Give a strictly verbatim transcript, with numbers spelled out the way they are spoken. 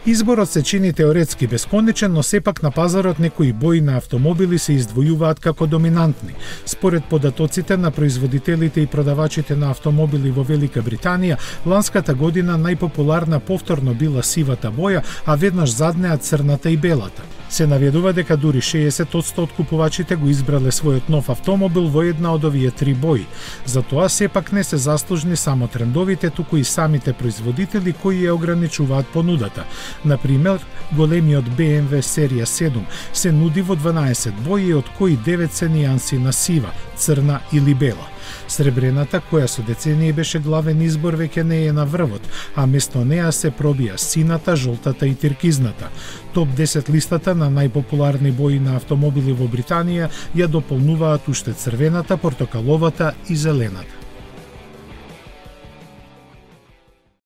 Изборот се чини теоретски бесконечен, но сепак на пазарот некои бои на автомобили се издвојуваат како доминантни. Според податоците на производителите и продавачите на автомобили во Велика Британија, ланската година најпопуларна повторно била сивата боја, а веднаш заднеа црната и белата. Се наведува дека дури шеесет одсто од купувачите го избрале својот нов автомобил во една од овие три бои. Затоа сепак не се заслужни само трендовите, туку и самите производители кои ја ограничуваат понудата. Например, големиот Б М В серија седум се нуди во дванаесет бои, од кои девет се нијанси на сива, црна или бела. Сребрената, која со децении беше главен избор, веќе не е на врвот, а место неа се пробија сината, жолтата и тиркизната. Топ десет листата на најпопуларни бои на автомобили во Британија ја дополнуваат уште црвената, портокаловата и зелената.